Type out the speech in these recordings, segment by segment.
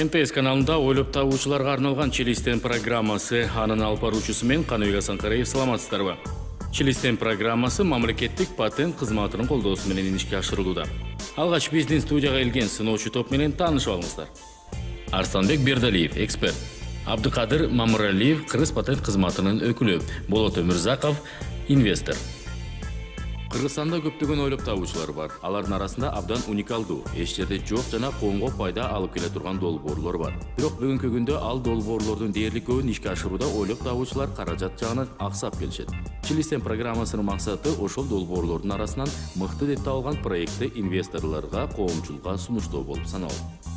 МТС каналында ойлоп табуучуларга арналган Челистен программасы анын алып баруучусу мен Каныбек Асанкараев. Саламатсыздарбы? Челистен программасы мамлекеттик патент кызматынын колдоосу менен ишке ашырылууда. Алгач биздин студияга келген сыноочу топ менен таанышып алыңыздар. Арсланбек Бердалиев, эксперт. Абдыкадыр Мамыралиев, Кыргыз патент кызматынын өкүлү. Болот Өмүрзаков, инвестор. Кыргызстанда көптөгөн ойлоп табуучулар бар. Алардын арасында абдан уникалдуу, эч жерде жок жана коомго пайда алып келе турган долбоорлор бар. Бирок бүгүнкү күндө ал долбоорлордун дээрлик көбүн ишке ашырууда ойлоп табуучулар каражат жагынан аксап келишет. Челистен программасынын максаты ошол долбоорлордун арасынан мыкты деп табылган проектти инвесторлорго, коомчулукка сунуштоо болуп саналат.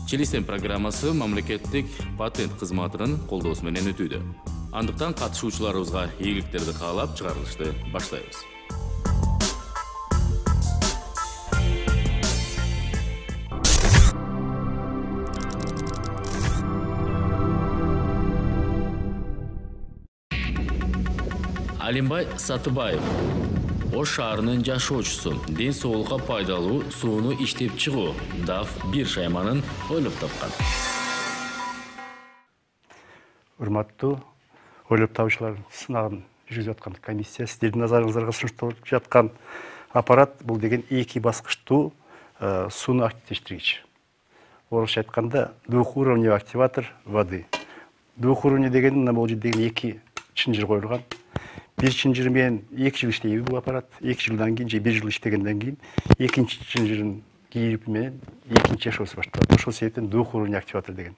Челистен программасы мамлекеттик патент кызматынын колдоосу менен өтүүдө. Андыктан катышуучуларыбызга ийгиликтерди каалап чыгарылышты баштайбыз. Алимбай Сатыбаев, Ош шаарынын жашоочусу, ден соолукка пайдалуу сууну иштеп чыгуу DAF1 шайманын ойлоп тапкан. Урматтуу ойлоп табуучулар сынагын жүргүзүп аткан комиссия, сиздердин назарыңыздарга сунушталып жаткан аппарат бул деген эки баскычтуу сууну активдештиргич. Орусча айтканда двухуровневый активатор воды. Двухуровневый деген мына бул жерде эки чынжыр коюлган. Бир чынжыр менен 2 жыл иштейби бул аппарат. 2 жылдан кийин же 1 жыл иштегенден кийин экинчи чынжырын кийип менен экинчи жашоосу башталат. Ошол себептен двухуровневый активатор деген.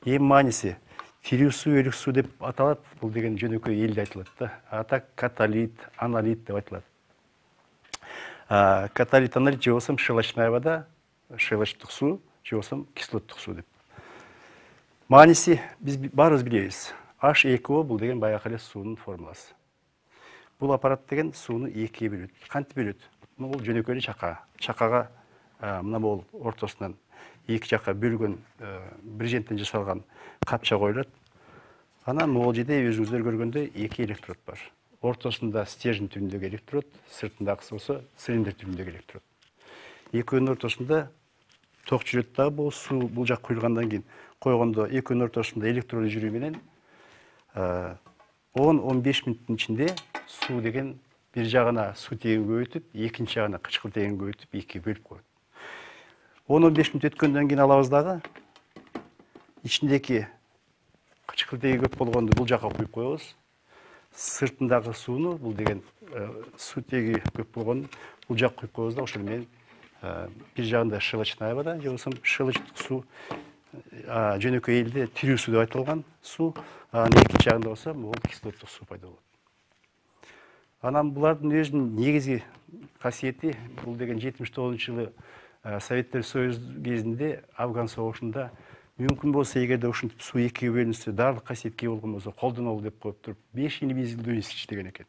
Эми мааниси тирүү суу, өлүк суу деп аталат. Бул деген жөнөкөй элде айтылат да. А так каталит, аналит деп айтылат. Каталит, аналит же болсо щелочная вода, щелочтук суу, же болсо кислоттук суу деп. Мааниси биз баарыбыз билебиз. H2O бул деген баягы эле суунун формуласы. Бул аппарат деген сууну экиге бөлөт. Кантип бөлөт? Бул жөнөкөй эле чака. Чакага мына бул ортосунан эки жакка бөлгөн брезенттен жасалган капча коюлат. Анан могул жерде өзүңүздөр көргөндөй эки электрод бар. Ортосунда стержень түрүндөгү электрод, сыртындагысы болсо цилиндр түрүндөгү электрод. Экөөнүн ортосунда ток жүрөт да, бул суу бул жак куйулгандан кийин койгондо экөөнүн ортосунда электрод жүрүү менен 10-15 мүнөттүн ичинде суу деген бир жагына сутегин көбөйтүп, экинчи жагына кычкылтегин көбөйтүп, экиге бөлүп коет. 10-15 мүнөт өткөндөн кийин алабыз дагы ичиндеги кычкылтеги көп болгонду бул жакка куюп коебуз. Сыртындагы сууну бул деген сутеги көп болгону бул жакка куюп коебуз да, ошол менен бир жагында щелочная вода, же болсо щелочтук суу, жөнөкөй элде тирүү суу деп айтылган суу, анын экинчи жагында болсо бул кислоттук суу пайда болот. Анан булардын өзүнүн негизги касиети бул деген 79-жылы Советтер Союзу кезинде Афган согушунда мүмкүн болсо эгерде ушинтип суу экиге бөлүнсө, дарлык касиетке болгон болсо колдонолу деп коюп туруп 5 мезгилдөө иштеген экен.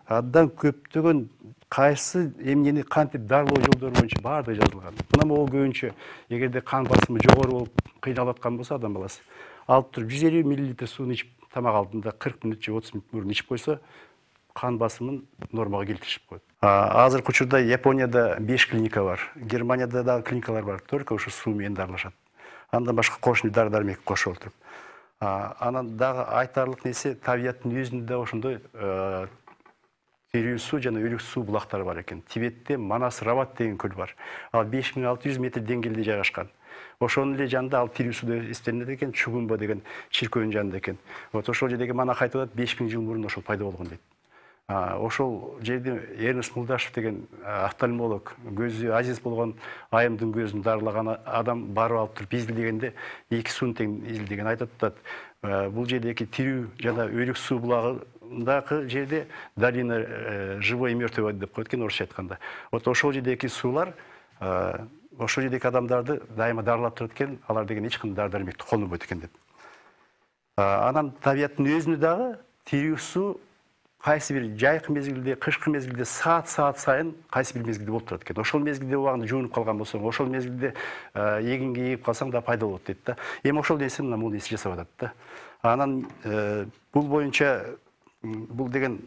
Андан көптөгөн кайсы эмнени кантип дарылоо жолдору боюнча баардыгы жазылган. Мына могул көбүнчө эгерде кан басымы жогору болуп кыйналып аткан болсо адам баласы алып туруп 150 мл сууну ичип тамак алдында 40 мүнөт же 30 мүнөт мурун ичип койсо кан басымын нормага келтиришип коет. Азыркы учурда Японияда 5 клиника бар. Германияда дагы клиникалар бар. Только ушу суу менен дарылашат. Андан башка кошумча дары-дармек кошуп отуруп. Анан дагы айтарлык нерсе табияттын өзүндө ошондой тирүү суу жана өлүк суу булактары бар экен. Тибетте Манас Рават деген көл бар. Ал 5600 метр деңгээлде жайгашкан. Ошонун эле жанында ал тирүү суу деп эстелинет экен, Чугумба деген чиркөөнүн жанында экен. Вот ошол жердеги манах айтып атат, 5000 жыл мурун ошол пайда болгон дейт. Ошол жерде Эрнест Мулдашев деген офтальмолог, көзү азиз болгон айымдын көзүн дарылаган адам барып алып туруп изилдегенде эки сууну тең изилдеген айтып атат. Бул жердеги тирүү жана өлүк суу булагындагы жерде долина живой и мертвой воды деп коет экен орусча айтканда. Вот ошол жердеги суулар ошол жердеги адамдарды дайыма дарылап турат экен, алар деген эч кандай дары-дармекти колдонбойт экен деп. Анан табияттын өзүндө дагы тирүү суу кайсы бир жайкы мезгилде, кышкы мезгилде саат сайын кайсы бир мезгилде болуп турат экен. Ошол мезгилде убагында жуунуп калган болсоң, ошол мезгилде эгинге ээп калсаң да пайда болот дейт да. Эми ошол нерсени мына бул нерсе жасап атат да. Анан бул боюнча бул деген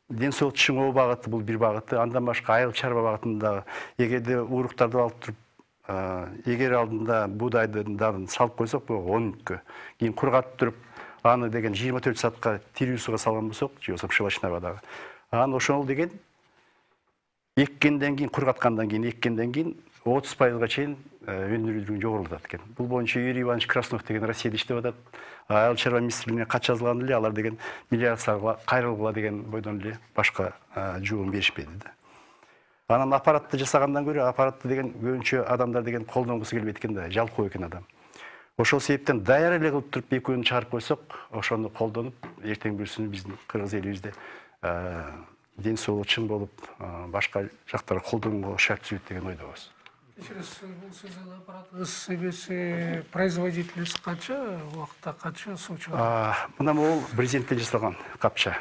ден соолук чыңоо багыты бул бир багыты, андан башка айыл чарба багытында эгерде уруктарды алып туруп эгер алдында буудайдын дарын салып койсок, бул 10 мүнөткө, кийин кургатып туруп, аны деген 24 саатка тирүү суга салган болсок, же болбосо шылачнагадагы, аны ошол деген эккенден кийин, кургаткандан кийин, эккенден кийин 30%га чейин өнүрүүлүгү жогорулатат экен. Бул боюнча Юрий Иванович Краснов деген Россияда иштеп атат. Айыл чарба министрлигине кат жазылган эле, алар деген мелиорацияга кайрылгыла деген бойдон эле башка жооп беришпеди да. Анан аппаратты жасагандан көрө, аппаратты деген көбүнчө адамдар деген колдонгусу келбейт экен да, жалкоо экен адам. Ошол себептен даяр эле кылып туруп экөөнү чыгарып койсок, ошону колдонуп, эртең бүрсүнү биздин кыргыз элибизде ден соолугу чың болуп, башка жактарга колдонууга шарт түзөт деген ойдобуз. Бул сиздин аппаратыңыз эмеси производительность канча убакытта канча суу чыгат? Мына бул брезенттен жасалган капча.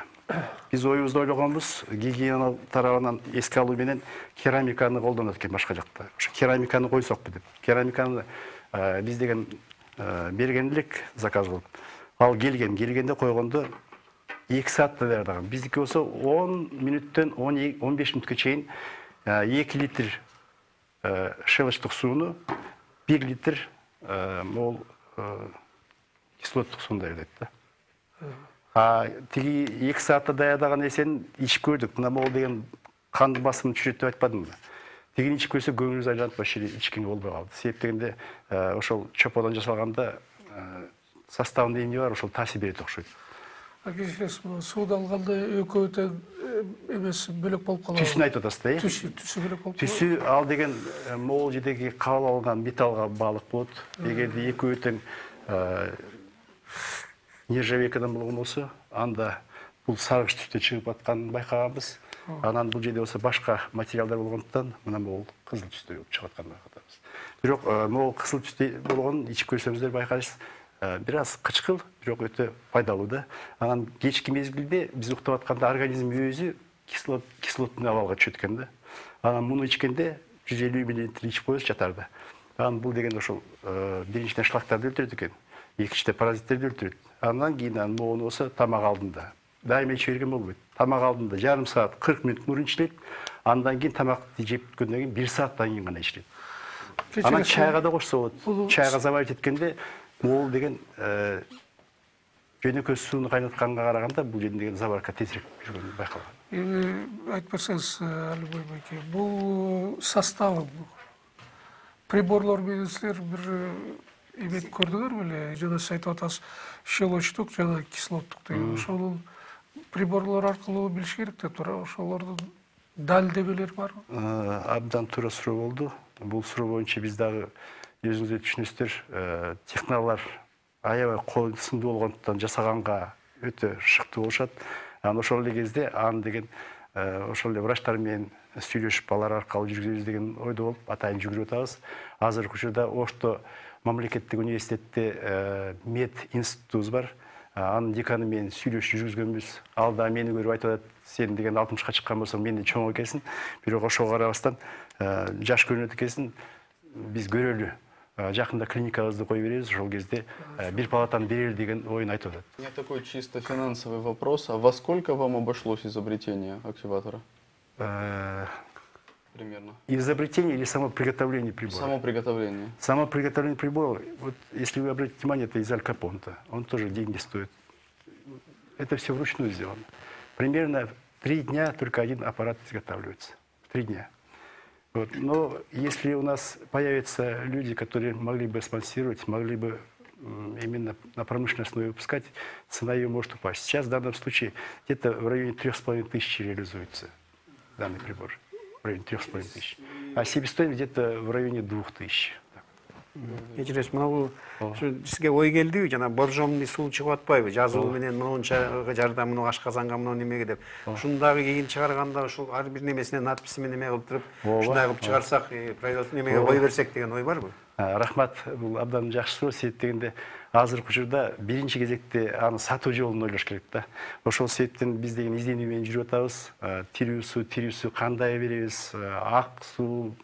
Биз оюбузду ойлогонбуз, гигиена тарабынан эске алуу менен керамиканы колдонот экен башка жакта. Ошо керамиканы койсокпу деп. Керамиканы биз деген берген элек заказ кылып. Ал келгенде койгондо 2 саатта даярдаган. Биздики болсо 10 мүнөттөн 15 мүнөткө чейин 2 литр шелыштык сууну 1 литр мол кислоттук сууну даярдайт да. Тиги 2 саатта даярдаган нерсени ичип көрдүк. Мына могул деген кандын басымын түшүрөт деп айтпадымбы? Тигини ичип көрсө көңүлүбүз айланып вообще ичкенге болбой калды. Себеп дегенде ошол чоподон жасалганда составында эмне бар, ошол таасир берет окшойт. Кечиресиз, сууду алганда экөө тең эмеси бөлөк болуп калат. Түсүн айтып атасыз да, э? Түсү бөлөк болуп калат. Түсү ал деген могул жердеги кабыл алган металлга баалык болот. Эгерде экөө тең нержавейкадан болгон болсо, анда бул саргыч түстө чыгып атканын байкаганбыз. Анан бул жерде болсо башка материалдар болгондуктан мына бул кызыл түстө чыгып атканын байкатабыз. Бирок могул кызыл түстө болгонун ичип көрсөңүздөр байкайсыз, бир аз кычкыл, бирок өтө пайдалуу да. Анан кечки мезгилде биз уктап атканда организм өзү кислотный абалга түшөт экен да. Анан муну ичкенде 150 мл ичип коесуз жатарда. Анан бул деген ошол биринчиден шлактарды өлтүрөт экен, экинчиден паразиттерди өлтүрөт. Андан кийин могуну болсо тамак алдында дайыма иче берген болбойт. Тамак алдында жарым саат 40 мүнөт мурун ичилет. Андан кийин тамакты жеп бүткөндөн кийин 1 сааттан кийин гана ичилет. Анан чайга да кошсо болот. Чайга заварить эткенде могул деген жөнөкөй сууну кайнатканга караганда бул жерден деген заварка тезирээк жүргөнү байкалган. Эми айтып берсеңиз, Алибой байке, бул составы приборлор менен силер бир эметип көрдүңөр беле? Жана сиз айтып атасыз, щелочтук жана кислоттук деген. Ошонун приборлор аркылуу билиш керек деп тура. Ошолордун далилдемелери барбы? Абдан туура суроо болду. Бул суроо боюнча биз дагы өзүңүздөр түшүнөсүздөр, технологиялар аябай кол сындуу болгондуктан жасаганга өтө шыктуу болушат. Анан ошол эле кезде аны деген ошол эле врачтар менен сүйлөшүп алар аркылуу жүргүзөбүз деген ойдо болуп атайын жүгүрүп атабыз. Азыркы учурда Ошто мамлекеттик университетте мед институтубуз бар. Анын деканы менен сүйлөшүп жүргүзгөнбүз. Ал да мени көрүп айтып атат, сен деген 60-ка чыккан болсоң менден чоң экенсиң. Бирок ошого карабастан жаш көрүнөт экенсиң. Биз көрөлү. Жакында клиникабызды коюп беребиз, ошол кезде бир палатаны берели деген оюн айтып атат. У меня такой чисто финансовый вопрос. А во сколько вам обошлось изобретение активатора? Примерно. Изобретение или само приготовление прибора? Само приготовление. Само приготовление прибора, вот если вы обратите внимание, это из алькапонта. Он тоже деньги стоит. Это все вручную сделано. Примерно 3 дня только один аппарат изготавливается. 3 дня. Вот. Но если у нас появятся люди, которые могли бы спонсировать, могли бы именно на промышленной основе выпускать, цена ее может упасть. Сейчас в данном случае где-то в районе 3500 реализуется данный прибор. В районе 3500. А себестоимость где-то в районе 2000. Кечиресиз, мына сизге ой келдиби, жана боржомный суу чыгып атпайбы? Жазуу менен мынунча жардам, мына ашказанга, мына немеге деп. Ушуну дагы кийин чыгарганда ушул ар бир немесине надписимен неме кылып туруп, ушундай кылып чыгарсак, производство немеге кой берсек деген ой барбы? Рахмат, бул абдан жакшы суроо. Себеп дегенде азыркы учурда биринчи кезекте аны сатуу жолун ойлош керек да. Ошол себептен биз деген изденүү менен жүрүп атабыз. Тирүү суу кандай беребиз, ак суу,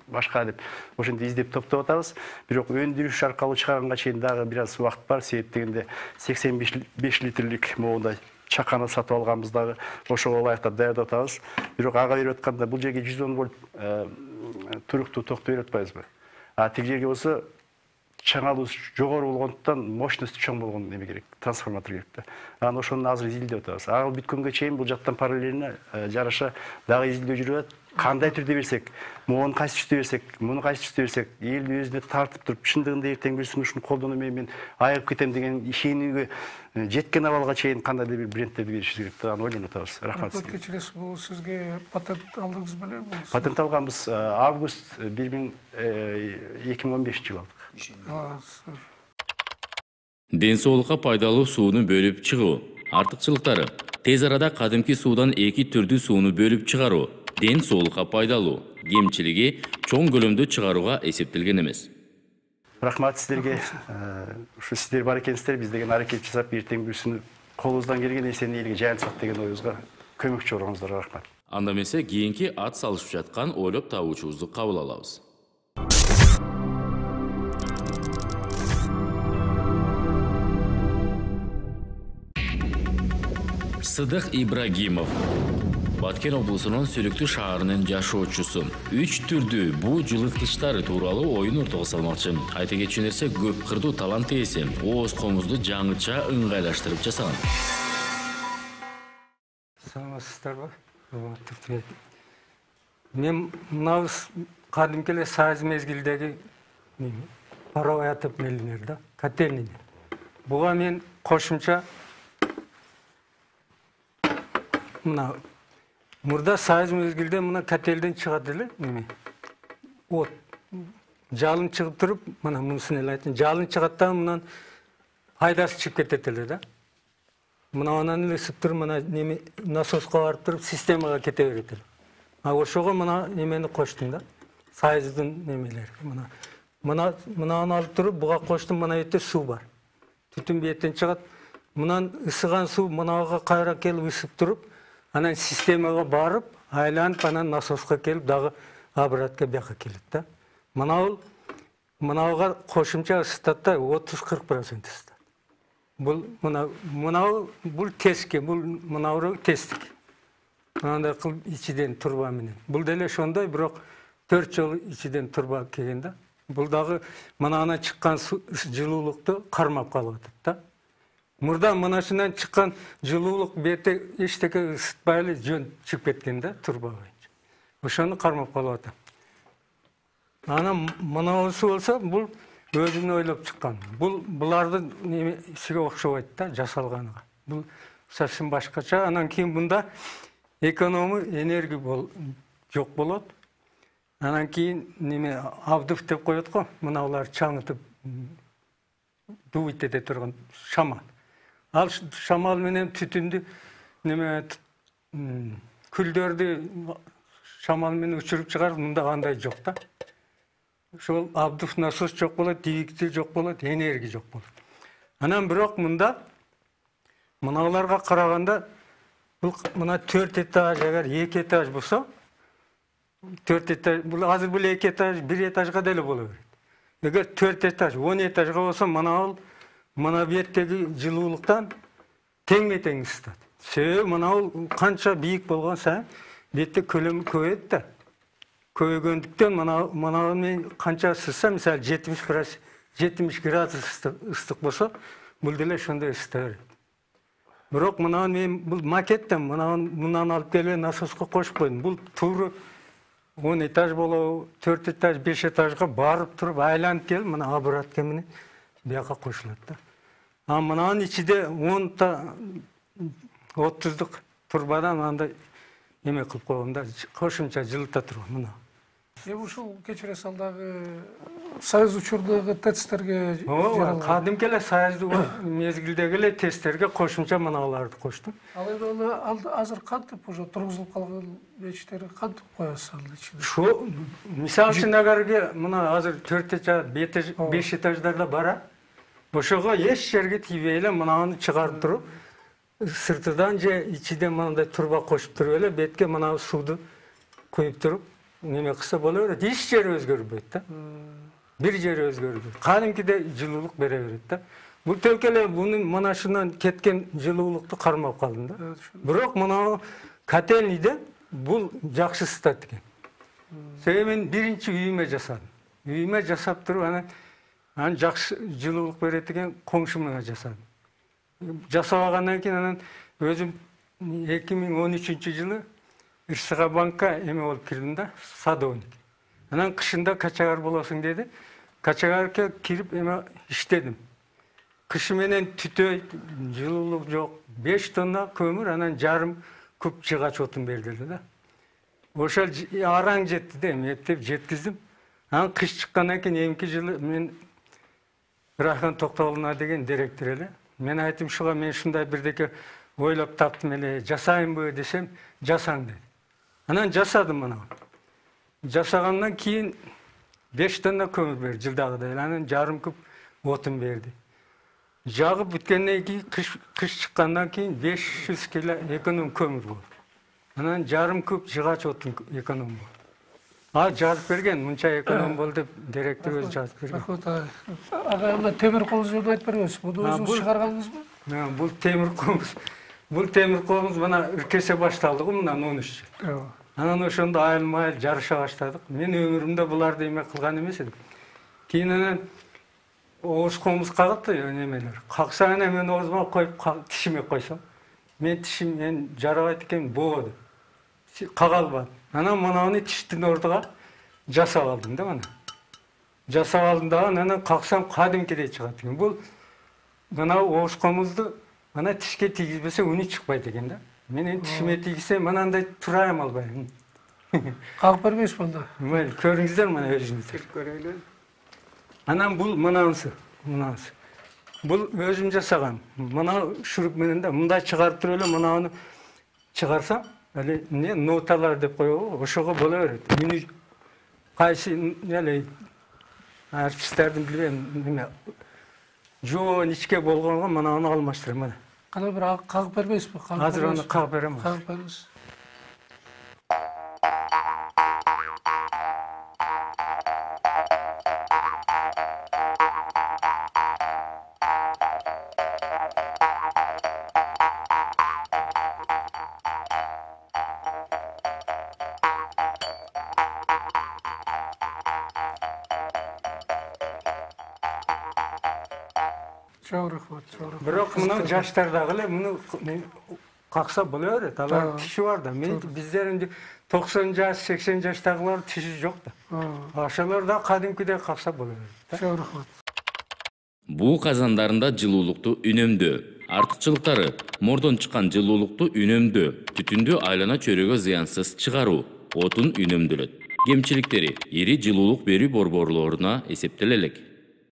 башка деп ошентип издеп топтоп атабыз. Бирок өндүрүш аркылуу чыгарганга чейин дагы бир аз убакыт бар. Себеп дегенде 85 литрлик моундай чаканы сатып алганбыз дагы ошого ылайыктап даярдап атабыз. Бирок ага берип атканда бул жерге 110 вольт туруктуу токту берип атпайбызбы? А тиги жерге болсо чаңалуу жогору болгондуктан мощности чоң болгон неме керек, трансформатор керек да. Анан ошону азыр изилдеп атабыз. Ал бүткөнгө чейин бул жактан параллельно жараша дагы изилдөө жүрүп атат. Кандай түрдө берсек, муну кайсы түстө берсек, муну кайсы түстө берсек, элди өзүнө тартып туруп, чындыгында эртең бирсин ушуну колдонуп мен айыгып кетем деген ишенүүгө жеткен абалга чейин кандайдыр бир брендтерди беришибиз керек да, аны ойлонуп атабыз. Рахмат сизге. Кечиресиз, бул сизге патент алдыңыз беле? Патент алганбыз август 2015-жылы алдык. Ден соолукка пайдалуу сууну бөлүп чыгуу. Артыкчылыктары: тез арада кадимки суудан 2 түрдүү сууну бөлүп чыгаруу. Ден соолукка пайдалуу. Кемчилиги чоң көлөмдө чыгарууга эсептелген эмес. Рахмат сиздерге. Ушу сиздер бар экенсиздер, биз деген аракет жасап, эртең бүрсүн колубуздан келген нерсени элге жайылтсак деген оюбузга көмөкчү болгоңуздарга рахмат. Анда эмесе кийинки ат салышып жаткан ойлоп табуучубузду кабыл алабыз. Сыдык Ибрагимов, Баткен облусунун Сүлүктүү шаарынын жашоочусу. 3 түрдүү буу жылыткычтары тууралуу оюн ортого салмакчы. Айта кетчү нерсе, көп кырдуу талант ээси. Ооз комузду жаңыча ыңгайлаштырып жасаган. Саламатсыздарбы? Мен мына кадимки эле сайыз мезгилдеги паровой отопление да, котельный. Буга мен кошумча мына мурда сайыз мезгилде мына котелден чыгат эле неме. Вот жалын чыгып туруп, мына мунусун эле айтайын, жалын чыгат да мындан пайдасы чыгып кетет эле да. Мына анан эле ысып туруп, мына неме насоска барып туруп, системага кете берет эле. А ошого мына немени коштум да. Сайыздын немелери. Мынаны алып туруп, буга коштум, мына жерде суу бар. Түтүн бүйөттөн чыгат. Мындан ысыган суу мынага кайра келип ысып туруп, анан системага барып, айланып, анан насоска келип, дагы обратка бияка келет да. Мынага кошумча ысытат да, 30-40% ысытат. Бул теске, мынау тестик. Мынандай кылып ичиден турба менен. Бул деле ошондой, бирок 4 жолу ичиден турба келген да. Бул дагы мынана чыккан жылуулукту кармап калып атат да. Мурда мынашынан чыккан жылуулук бете эчтеке ысытпай эле жөн чыгып кеткен да, турба боюнча. Ошону кармап калып атат. Анан мынаусы болсо, бул өзүн ойлоп чыккан. Булардын немесиге окшобойт да, жасалганыга. Бул совсем башкача. Анан кийин мында экономы энергия жок болот. Анан кийин неме абдыв деп коет го, мыналар чаңытып дуйт эте турган шамал. Ал шамал менен түтүндү неме күлдөрдү шамал менен учуруп чыгарып, мында андай жок да. Ошол абдыв насос жок болот, двигатель жок болот, энергия жок болот. Анан бирок мында мыналарга караганда бул мына 4 этаж, эгер 2 этаж болсо, 4 этаж, бул азыр бул 2 этаж, 1 этажга деле боло берет. Эгер 4 этаж, 10 этажга болсо, мына беттеги жылуулуктан тең-тең ысытат. Себеби мына канча бийик болгон сайын бетте көлөмү көбөйөт да. Көбөйгөндүктөн мына мен канча ысытса, мисалы 70 градус ыстык болсо, бул деле ошондой ысыта берет. Бирок мына мен бул макеттен мындан алып келип насоска кошуп койдум. Бул тууру 10 этаж болобу, 4 этаж, 5 этажга барып туруп айланып келип, мына обратка менен бияка кошулат да. А мынанын ичинде 30-дук турбадан андай эме кылып койгон да, кошумча жылыта турган мына. Ушул кечиресиз, алдагы сайыз учурдагы тесттерге кадимки эле сайыздуу мезгилдеги эле тесттерге кошумча мыналарды коштум. Ал эми азыр кантип уже тургузулуп калган печтери кантип коесуз ал ичине? Шу мисалы үчүн агерге мына азыр 4 этаж, 5 этаждарда бара, ошого эч жерге тийбей эле мынаны чыгарып туруп, сыртыдан же ичиден мындай турба кошуп туруп эле бетке мына сууду куюп туруп, неме кылса боло берет. Эч жери өзгөрбөйт да. Бир жери өзгөрбөйт. Кадимкиде жылуулук бере берет да. Бул төлкө эле мунун манашынан кеткен жылуулукту кармап калдым да. Бирок мына котельныйде бул жакшы ысытат экен. Себеби мен биринчи үйүмө жасадым. Үйүмө жасап туруп анан жакшы жылуулук берет экен коңшумга жасадым. Жасабагандан кийин анан өзүм 2013-жылы РСХ банкка эме болуп кирдим да, садовник. Анан кышында качагар болосуң деди. Качагарга кирип эме иштедим. Кышы менен түтөйт, жылуулук жок. 5 тонна көмүр, анан жарым куб жыгач отун бердилди да. Ошол араң жетти да, эптеп жеткиздим. Анан кыш чыккандан кийин эмки жылы мен Рахман Токтогуловна деген директор эле. Мен айттым, шуга мен ушундай бирдеке ойлоп таптым эле, жасайынбы десем, жасаң деди. Анан жасадым мына. Жасагандан кийин 5 тонна көмүр берди жылдагыдай, анан жарым куб отун берди. Жагып бүткөндөн кийин кыш чыккандан кийин 500 кило эконом көмүр болду. Анан жарым куб жыгач отун эконом болду. Жазып берген, мынча эконом болду деп директор өзү жазып берген. Рахмат ага, мына темир колубуз жөнүндө айтып беребиз. Муну өзүңүз чыгаргандыңызбы? Бул темир колубуз. Бул темир колубуз мына иркесе башталды го мындан 13 жыл. Анан ошондо айыл-майыл жарыша баштадык. Мен өмүрүмдө буларды эме кылган эмес элем. Кийин анан ооз комуз кагат да немелер. Какса анан мен оозума коюп тишиме койсом, мен тишим мен жарабайт экен боо деп. Кага албадым. Анан мынаны тиштин ордуга жасап алдым да мына. Жасап алдым да анан каксам кадимкидей чыгат экен. Бул мына ооз комузду мына тишке тийгизбесе үнү чыкпайт экен да. Менин тишиме тийгизсем мынандай турайм албайм. Кагып бербейсизби анда? Мына көрүңүздөр мына өзүңүздөр. Көрөйлү. Анан бул мынанысы. Бул өзүм жасаган. Мына шуруп менен да мындай чыгарып туруп эле мынаны чыгарсам, эле ноталар деп коебу, ошого боло берет. Үнү кайсы эле артисттердин билбейм неме жоон ичке болгонго мынаны алмаштырам мына. Кана бир кагып бербейсизби? Азыр аны кагып берем. Кагып бериңиз. Çok rahmat, çok rahmat. Бирок мына жаштар дагы эле муну какса боло берет. Алар тиши бар да. Мен биздерин 90 жаш, 80 жаштагылар тиши жок да. Ошолор да кадимкидей какса боло берет. Çok rahmat. Буу казандарында жылуулукту үнөмдөө. Артыкчылыктары: мордон чыккан жылуулукту үнөмдөө, түтүндү айлана чөйрөгө зыянсыз чыгаруу, отун үнөмдөлөт. Кемчиликтери: ири жылуулук берүү борборлоруна эсептелелек.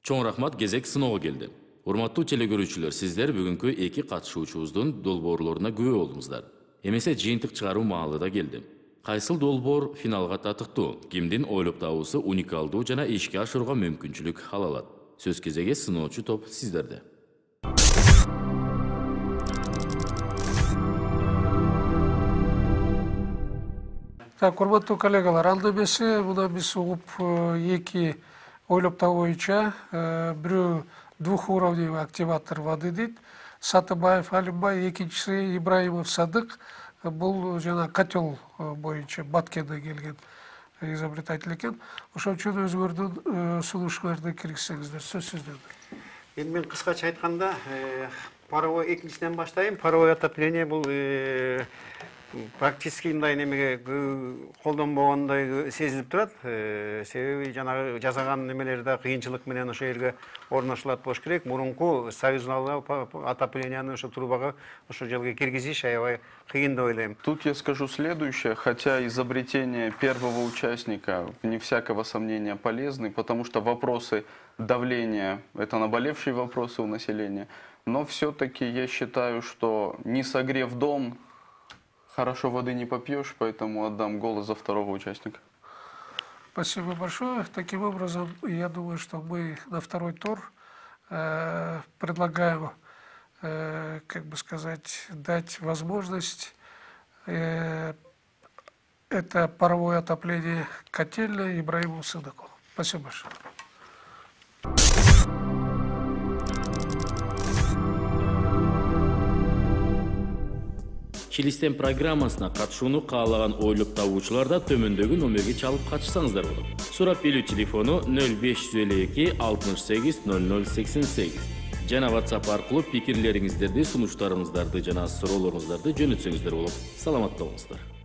Чоң рахмат, кезек сыноого келди. Урматтуу телекөрүүчүлөр, сиздер бүгүнкү эки катышуучубуздун долбоорлоруна күбө болдуңуздар. Эмесе жыйынтык чыгаруу маалы да келди. Кайсыл долбоор финалга татыктуу, кимдин ойлоп табуусу уникалдуу жана ишке ашырууга мүмкүнчүлүк ала алат. Сөз кезеги сыноочу топ сиздерде. Так, урматтуу коллегалар, анда эмесе мына биз угуп эки ойлоп табуу боюнча бирөө двухуровневый активатор воды дейт. Сатыбаев Алимбай, экинчиси Ибраимов Садык. Бул жана котел боюнча Баткенден келген изобретатель экен. Ошон үчүн өзүңөрдүн сунушуңарды киргизсеңиздер, сөз сиздерде. Эми мен кыскача айтканда, паровой экинчиден баштайм. Паровой отопление бул практически мындай немеге колдонбогондой сезилип турат. Себеби жанагы жасаган немелер да кыйынчылык менен ошол жерге орношулат болуш керек. Мурунку союздагы отоплениянын ошо трубага ошол жерге киргизиш аябай кыйын деп ойлойм. Тут я скажу следующее, хотя изобретение первого участника, вне всякого сомнения, полезны, потому что вопросы давления – это наболевшие вопросы у населения, но все-таки я считаю, что не согрев дом, хорошо воды не попьешь, поэтому отдам голос за второго участника. Спасибо большое. Таким образом, я думаю, что мы на второй тур предлагаем, как бы сказать, дать возможность это паровое отопление котельной Ибраимову Садыку. Спасибо большое. Чилистен программасына катышууну каалаган ойлоп табуучулар да төмөндөгү номерге чалып катышсаңыздар болот. Сурап билүү телефону 0552 68 0088 жана WhatsApp аркылуу пикирлериңиздерди, сунуштарыңыздарды жана суроолоруңуздарды жөнөтсөңүздөр болот. Саламатта болуңуздар.